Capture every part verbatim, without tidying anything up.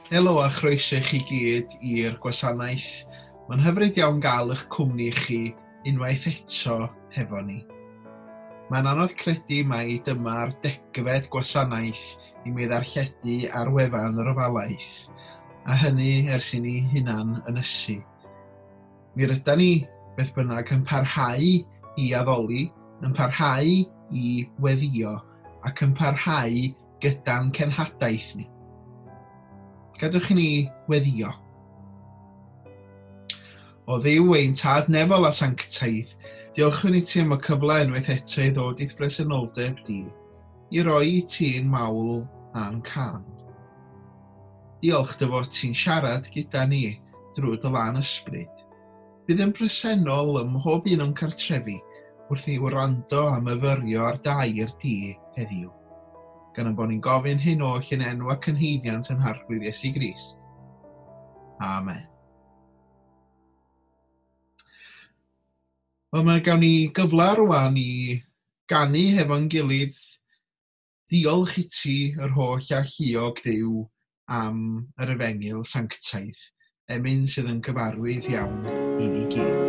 Helo a chroeso i chi gyd i'r gwasanaeth. Mae'n hyfryd iawn gael eich cwmni chi unwaith eto hefo ni. Mae'n anodd credu mai dyma'r degfed gwasanaeth i mi ddarlledu ar wefan yr ofalaeth, a hynny ers i ni hunan ynysu. Mi rydan ni, beth bynnag, yn parhau i addoli, yn parhau i weddio ac yn parhau gyda'n cenhadaeth ni. Gadewch i ni weddio. O Dduw ein tad nefol a sanctaidd, diolchwn i ti am y cyfle unwaith eto i ddod i'th bresenoldeb di, i roi i ti'n mawl a'n can. Diolch dy fod ti'n siarad gyda ni drwy dy lan ysbryd. Bydd yn bresennol ym mhob un o'n cartrefi wrth i wrando a myfyrio ar dair di heddiw. Gan ein bod ni'n gofyn hyn oll yn enw ac yn haeddiant yn Harglwydd Iesu Grist. Amen. Wel, mae gawn ni gyfle rwan i ganu hefo'n gilydd. Diolch i ti yr holl alluog Dduw am yr efengyl sanctaidd, emyn sydd yn gyfarwydd iawn i ni gyd.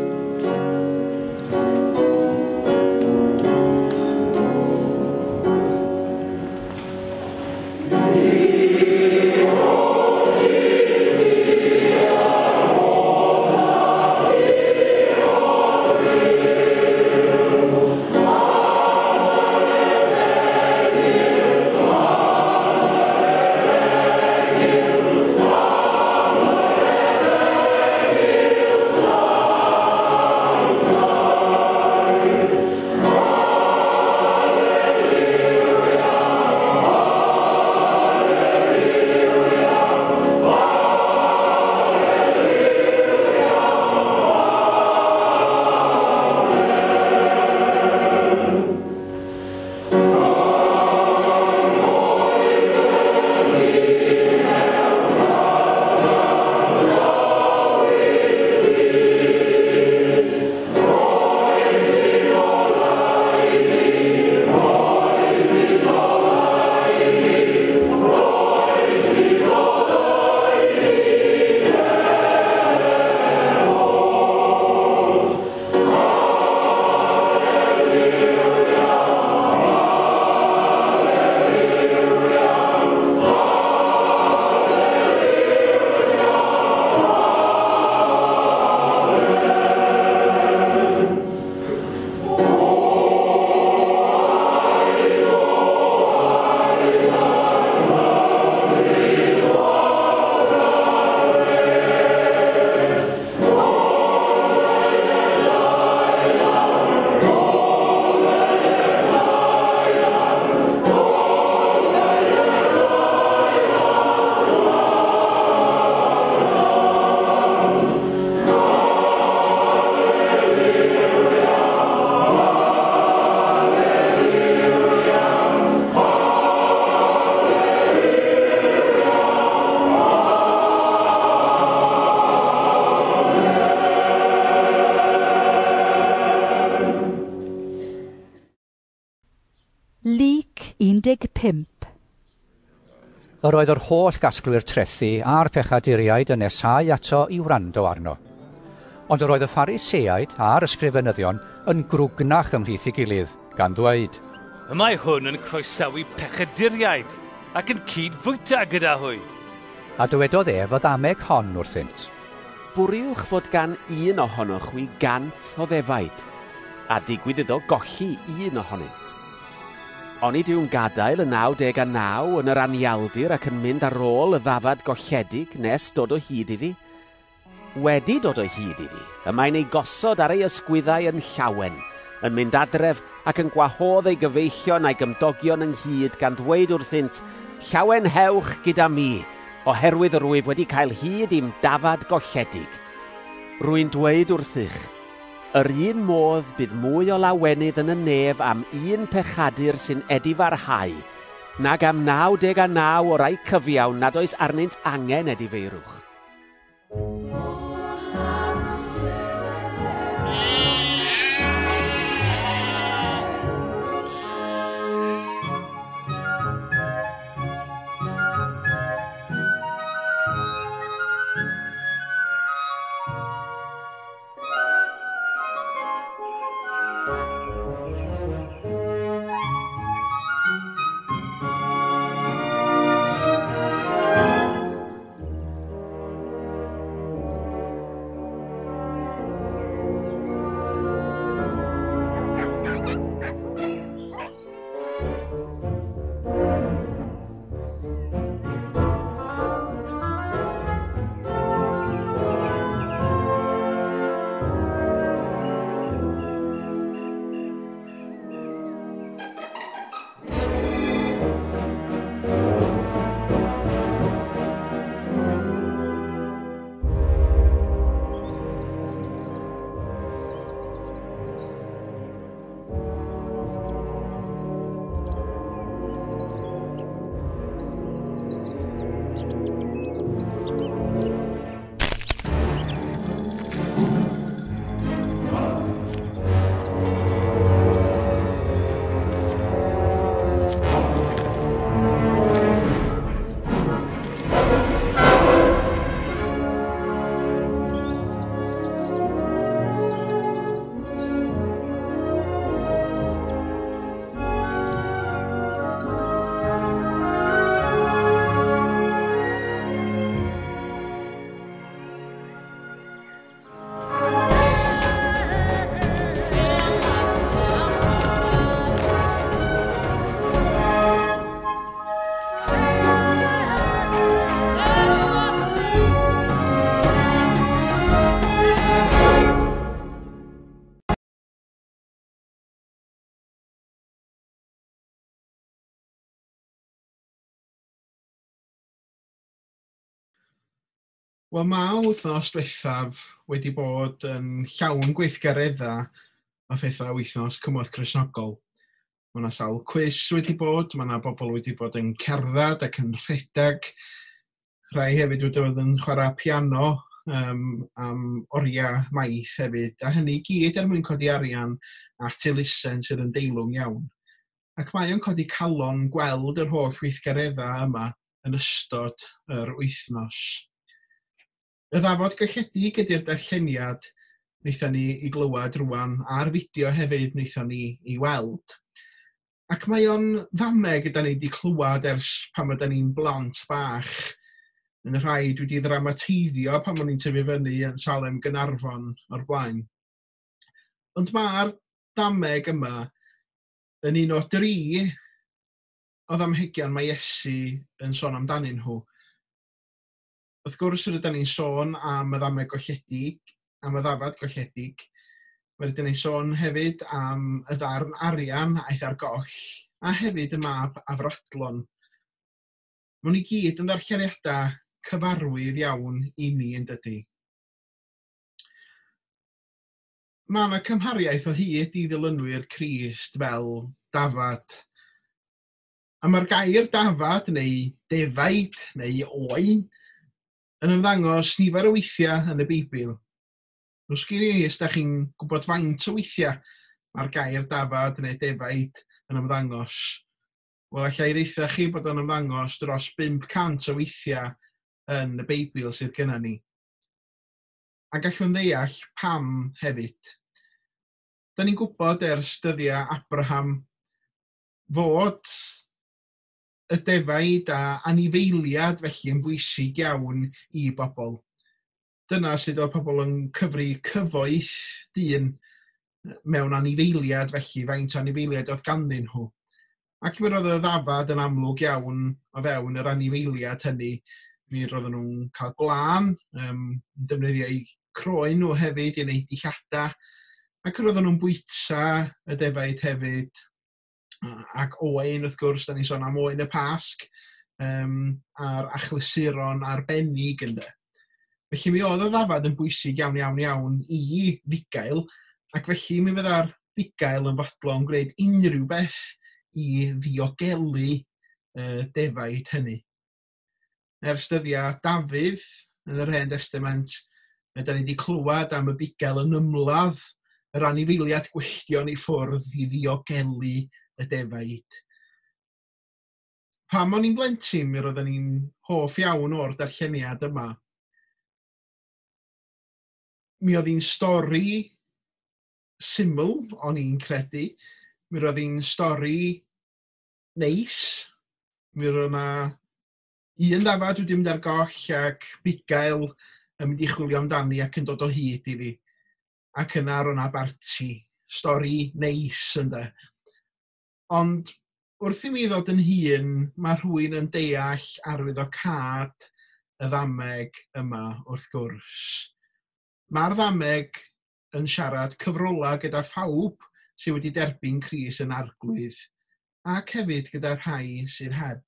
un deg pump. Yr oedd yr holl gasglwyr trethi a'r pechaduriaid yn nesáu ato i wrando arno. Ond yr oedd y Phariseaid a'r ysgrifenyddion yn grwgnach ymhlith ei gilydd, gan ddweud, Y mae hwn yn croesawu pechaduriaid ac yn cyd-fwyta gyda hwy. A dywedodd ef y ddameg hon wrthynt. Bwriwch fod gan un ohonoch chwi gant o ddefaid, a digwydd iddo golli un ohonynt. Onid yw'n gadael y naw deg a naw yn yr anialdir ac yn mynd ar ôl y ddafad golledig nes dod o hyd iddi? Wedi dod o hyd iddi, y mae'n ei gosod ar ei ysgwyddau yn llawen, yn mynd adref ac yn gwahodd ei gyfeillion a'i gymdogion ynghyd gan ddweud wrthynt, llawenhewch gyda mi, oherwydd yr wyf wedi cael hyd i'm dafad golledig. Rwy'n dweud wrthych, yr un modd bydd mwy o lawenydd yn y nef am un pechadur sy'n edifarhau, nag am naw deg a naw o rai cyfiawn nad oes arnynt angen edifeirwch. Wel, mae wythnos diwethaf wedi bod yn llawn gweithgareddau a phethau wythnos Cymorth Cristnogol. Mae yna sawl cwis wedi bod, mae yna bobl wedi bod yn cerdded ac yn rhedeg. Rhai hefyd wedi bod yn chwarae piano um, am oriau maith hefyd, a hynny i gyd er mwyn codi arian at elusen sydd yn deilwng iawn. Ac mae o'n codi calon gweld yr holl weithgareddau yma yn ystod yr wythnos. Y ddafod golledig ydy'r darlleniad wnaethon ni i glywed rwan, a'r fideo hefyd wnaethon ni i weld. Ac mae o'n ddameg ydan ni wedi clywed ers pan ydan ni'n blant bach, yn y rhai dwi wedi ddramateiddio pan o'n i'n tyfu fyny yn Salem Gaernarfon o'r blaen. Ond mae'r dameg yma yn un o dri o ddamhegion mae Iesu yn sôn amdanyn nhw. Wrth gwrs, rydyn ni'n sôn am y ddameg golledig, am y ddafad golledig. Rydyn ni'n sôn hefyd am y ddarn arian aeth ar goll, a hefyd y mab afradlon. Maen nhw i gyd yn ddarlleniadau cyfarwydd iawn i ni yn dydy. Mae yna cymhariaeth o hyd i ddilynwyr Crist fel dafad. A mae'r gair dafad neu defaid neu oen yn ymddangos nifer o weithiau yn y Beibl. Rws gyn i os da chi'n gwybod faint o weithiau mae'r gair dafad neu defaid yn ymddangos. Wel, alla i ddeutha chi bod o'n ymddangos dros bump cant o weithiau yn y Beibl sydd gennym ni. A gallwn ddeall pam hefyd. Da ni'n gwybod ers dyddiau Abraham fod y defaid a anifeiliad felly yn bwysig iawn i bobl. Dyna sydd oedd pobl yn cyfri cyfoeth dyn mewn anifeiliad felly, faint o anifeiliad oedd ganddyn nhw. Ac mi roedd y ddafad yn amlwg iawn o fewn yr anifeiliad hynny. Mi roedden nhw'n cael gwlân, um, yn defnyddio eu croen nhw hefyd i wneud dillada, ac roedden nhw'n bwyta y defaid hefyd. Ac oen, wrth gwrs, da ni'n sôn am oen y Pasg, um, a'r achlysuron arbennig ynde. Felly mi oedd y ddafad yn bwysig iawn, iawn, iawn i fugail, ac felly mi fydda'r bugail yn fodlon gwneud unrhyw beth i ddiogelu uh, defaid hynny. Ers dyddiau Dafydd yn yr Hen Testament, da ni wedi clywed am y bugail yn ymladd yr anifeiliad gwylltion i ffwrdd i ddiogelu y defaid. Pan o'n i'n blentyn, mi roedden ni'n hoff iawn o'r darlleniad yma. Mi oedd hi'n stori syml, o'n i'n credu. Mi roedd hi'n stori neis. Mi roedd yna un ddafad wedi mynd ar goll ac bugail yn mynd i chwilio amdani ac yn dod o hyd iddi. Ac yna roedd yna barti. Stori neis ynde. Ond wrth i mi ddod yn hŷn, mae rhywun yn deall arwyddocâd y ddameg yma wrth gwrs. Mae'r ddameg yn siarad cyfrola gyda phawb sydd wedi derbyn Crist yn arglwydd, ac hefyd gyda rhai sydd heb.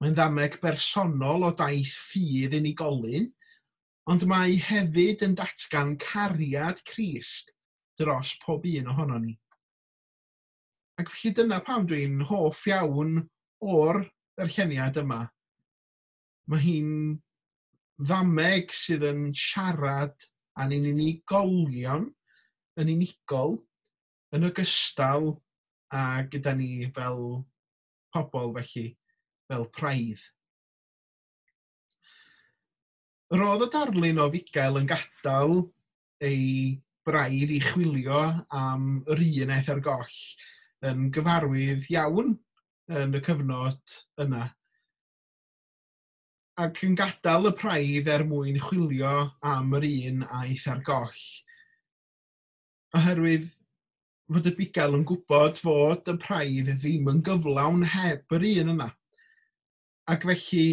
Mae'n ddameg bersonol o daith ffydd unigolyn, ond mae hefyd yn datgan cariad Crist dros pob un ohonon ni. Ac felly dyna pam dwi'n hoff iawn o'r darlleniad yma. Mae hi'n ddameg sydd yn siarad â'n unigolion, yn unigol, yn ogystal â gyda ni fel pobl felly, fel praidd. Roedd y darlun o fugail yn gadael ei braidd i chwilio am yr un aeth ar goll yn gyfarwydd iawn yn y cyfnod yna. Ac yn gadael y praidd er mwyn chwilio am yr un aeth ar goll. Oherwydd fod y bugail yn gwybod fod y praidd ddim yn gyflawn heb yr un yna. Ac felly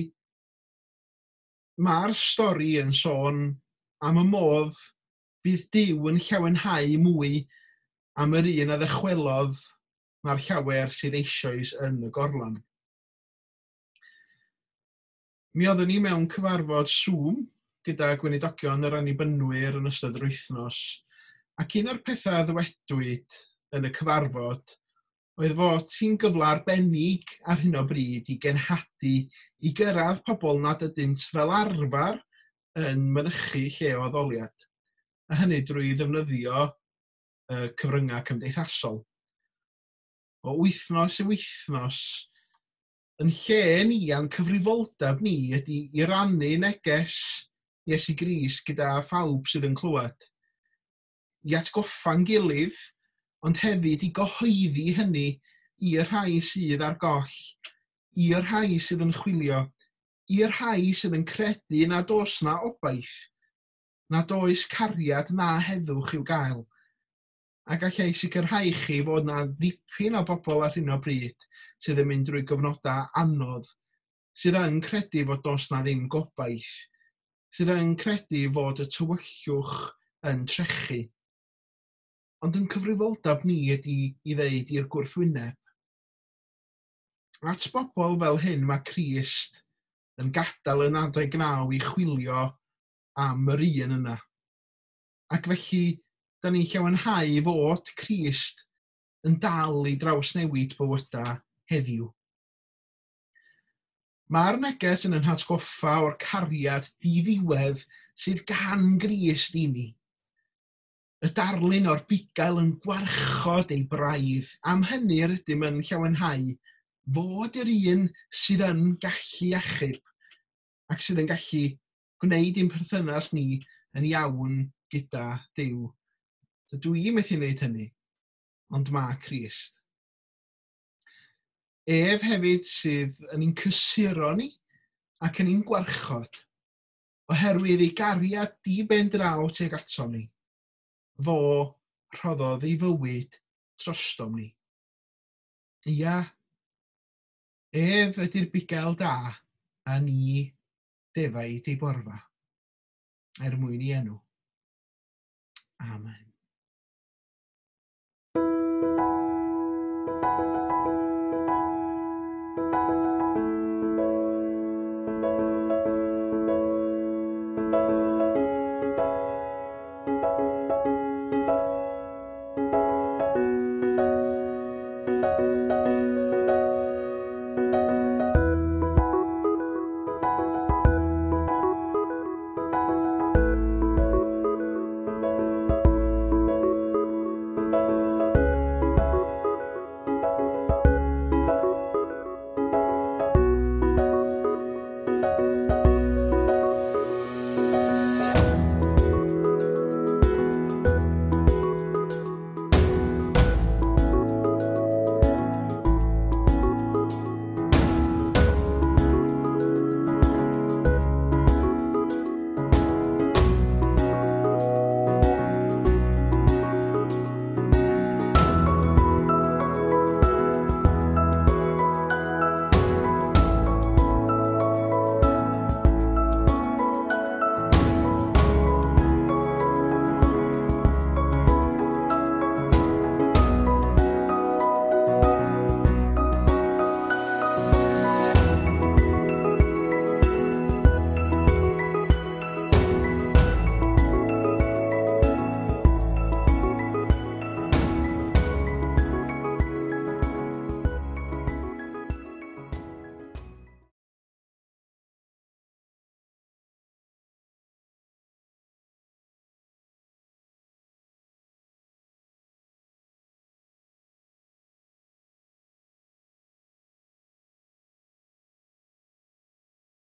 mae'r stori yn sôn am y modd bydd Duw yn llawenhau mwy am yr un a ddychwelodd na'r llawer sydd eisoes yn y gorlan. Mi oeddwn ni mewn cyfarfod Zoom gyda gweinidogion yr Annibynwyr yn ystod yr wythnos, ac un o'r pethau ddywedwyd yn y cyfarfod oedd fod hi'n gyfle arbennig ar hyn o bryd i genhadu i gyrraedd pobl nad ydynt fel arfer yn mynychu lle o addoliad, a hynny drwy ddefnyddio y cyfryngau cymdeithasol. O wythnos i wythnos, yn lle ni a'n cyfrifoldeb ni ydy i rannu neges Iesu Grist gyda phawb sydd yn clywed. I atgoffa'n gilydd, ond hefyd i gyhoeddi hynny i'r rhai sydd ar goll, i'r rhai sydd yn chwilio, i'r rhai sydd yn credu nad oes na obaith, nad oes cariad na heddwch i'w gael. A gallai sicrhau chi fod na ddipyn o bobl ar hyn o bryd sydd yn mynd drwy gyfnodau anodd, sydd yn credu fod does na ddim gobaith, sydd yn credu fod y tywyllwch yn trechu. Ond yn cyfrifoldeb ni ydy i ddeud i'r gwrthwyneb. At bobl fel hyn mae Crist yn gadael y naw deg naw i chwilio am yr un yna. Ac felly, da ni'n llawenhau fod Crist yn dal i drawsnewid bywydau heddiw. Mae'r neges yn ein hatgoffa o'r cariad diddiwedd sydd gan Grist i ni. Y darlun o'r bugail yn gwarchod ei braidd. Am hynny rydym yn llawenhau fod yr un sydd yn gallu achub ac sydd yn gallu gwneud ein perthynas ni yn iawn gyda Duw. Dydw i methu wneud hynny, ond mae Crist. Ef hefyd sydd yn ein cysuro ni ac yn ein gwarchod, oherwydd ei gariad di-ben draw tuag atom ni. Fo rhoddodd ei fywyd drostom ni. Ia, ef ydy'r bugail da a ni defaid ei borfa, er mwyn ei enw. Amen.